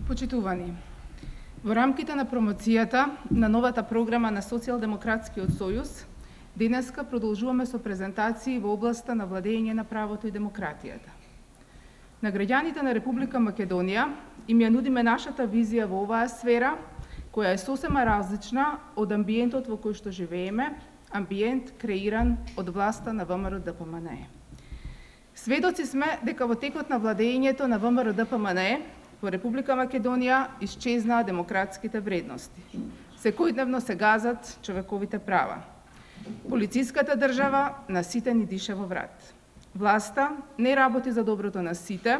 Почитувани, во рамките на промоцијата на новата програма на Социјалдемократскиот сојуз, денеска продолжуваме со презентации во областа на владење на правото и демократијата. На граѓаните на Република Македонија им ја нудиме нашата визија во оваа сфера, која е сосема различна од амбиентот во кој што живееме, амбиент креиран од власта на ВМРО-ДПМНЕ. Сведоци сме дека во текот на владењето на ВМРО-ДПМНЕ во Република Македонија исчезнаа демократските вредности. Секојдневно се газат човековите права. Полициската држава на сите ни диша во врат. Власта не работи за доброто на сите,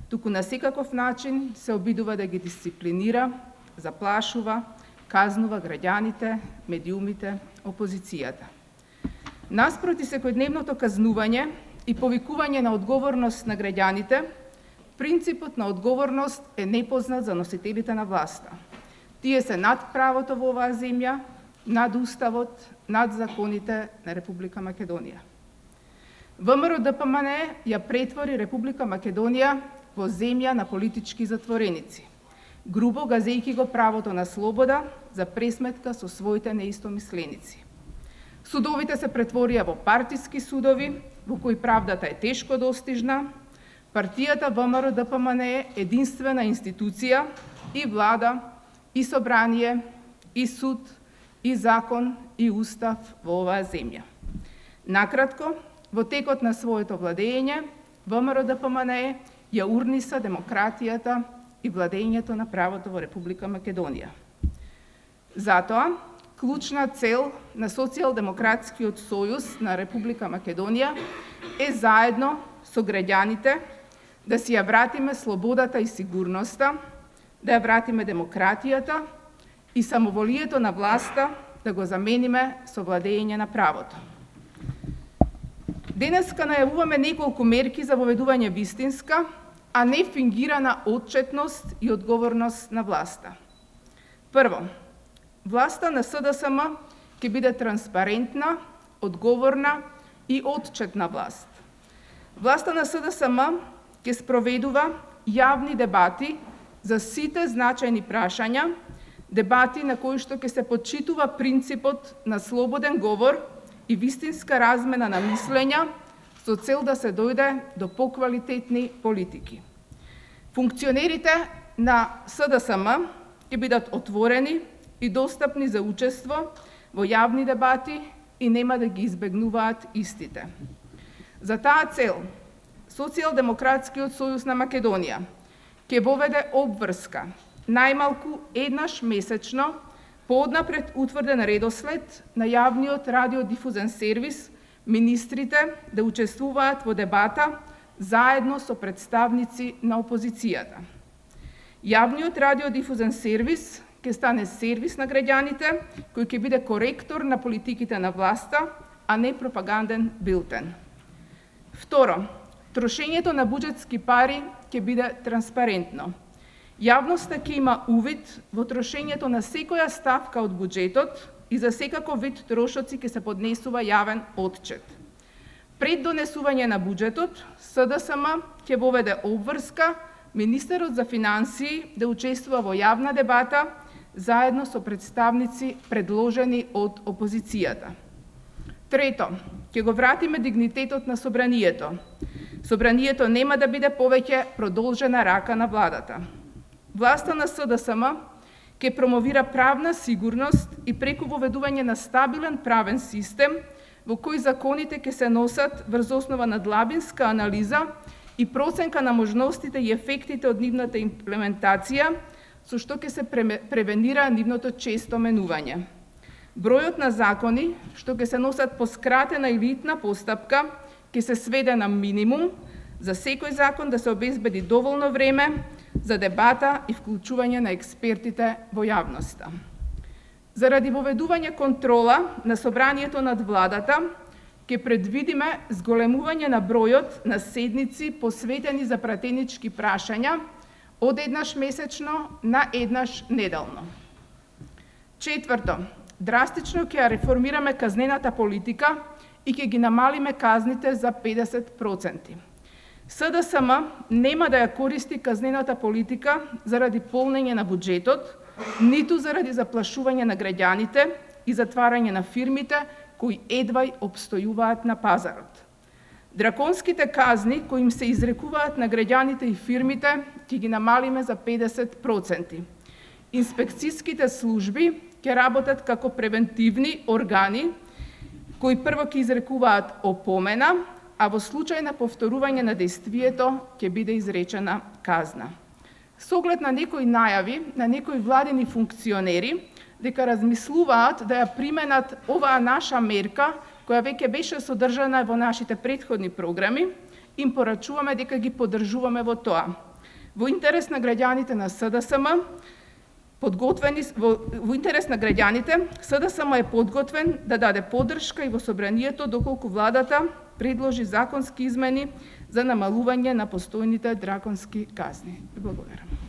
туку на секаков начин се обидува да ги дисциплинира, заплашува, казнува граѓаните, медиумите, опозицијата. Наспроти секојдневното казнување и повикување на одговорност на граѓаните, принципот на одговорност е непознат за носителите на власта. Тие се над правото во оваа земја, над уставот, над законите на Република Македонија. ВМРО-ДПМНЕ ја претвори Република Македонија во земја на политички затвореници, грубо газејќи го правото на слобода за пресметка со своите неистомисленици. Судовите се претворија во партиски судови, во кои правдата е тешко достижна. Партијата ВМРО-ДПМНЕ е единствена институција, и влада, и собрание, и суд, и закон, и устав во оваа земја. Накратко, во текот на своето владење, ВМРО-ДПМНЕ ја урниса демократијата и владењето на правото во Република Македонија. Затоа, клучна цел на Социјалдемократскиот сојуз на Република Македонија е заедно со граѓаните да си ја вратиме слободата и сигурноста, да ја вратиме демократијата и самоволието на власта да го замениме со владење на правото. Денеска најавуваме неколку мерки за воведување вистинска, а не фингирана отчетност и одговорност на власта. Прво, власта на СДСМ ќе биде транспарентна, одговорна и отчетна власт. Власта на СДСМ ќе спроведува јавни дебати за сите значајни прашања, дебати на кои што ќе се почитува принципот на слободен говор и вистинска размена на мислења со цел да се дојде до поквалитетни политики. Функционерите на СДСМ ќе бидат отворени и достапни за учество во јавни дебати и нема да ги избегнуваат истите. За таа цел, Социјалдемократскиот сојуз на Македонија ќе воведе обврска најмалку еднаш месечно по однапред утврден редослед на јавниот радиодифузен сервис министрите да учествуваат во дебата заедно со представници на опозицијата. Јавниот радиодифузен сервис ќе стане сервис на граѓаните кој ќе биде коректор на политиките на власта, а не пропаганден билтен. Второ, трошењето на буџетски пари ќе биде транспарентно. Јавноста ќе има увид во трошењето на секоја ставка од буџетот и за секаков вид трошоци ќе се поднесува јавен отчет. Пред донесување на буџетот, СДСМ ќе воведе обврска министерот за финансии да учествува во јавна дебата заедно со представници предложени од опозицијата. Трето, ќе го вратиме дигнитетот на собранието. Собранието нема да биде повеќе продолжена рака на владата. Власта на СДСМ ќе промовира правна сигурност и преку воведување на стабилен правен систем во кој законите ќе се носат врз основа на длабинска анализа и проценка на можностите и ефектите од нивната имплементација, со што ќе се превенира нивното често менување. Бројот на закони што ќе се носат по скратена или итна постапка ќе се сведе на минимум, за секој закон да се обезбеди доволно време за дебата и вклучување на експертите во јавноста. Заради воведување контрола на собранието над владата, ќе предвидиме зголемување на бројот на седници посветени за пратенички прашања од еднаш месечно на еднаш неделно. Четврто, драстично ќе ја реформираме казнената политика и ќе ги намалиме казните за 50%. СДСМ нема да ја користи казнената политика заради полнење на буџетот, ниту заради заплашување на граѓаните и затварање на фирмите кои едвај опстојуваат на пазарот. Драконските казни кои им се изрекуваат на граѓаните и фирмите ќе ги намалиме за 50%. Инспекцијските служби ќе работат како превентивни органи кои прво ќе изрекуваат опомена, а во случај на повторување на дејствието ќе биде изречена казна. Со оглед на некои најави на некои владини функционери дека размислуваат да ја применат оваа наша мерка, која веќе беше содржана во нашите претходни програми, им порачуваме дека ги поддржуваме во тоа. Во интерес на граѓаните на СДСМ, во интерес на граѓаните, СДСМ е подготвен да даде поддршка и во собранието доколку владата предложи законски измени за намалување на постојните драконски казни. Благодарам.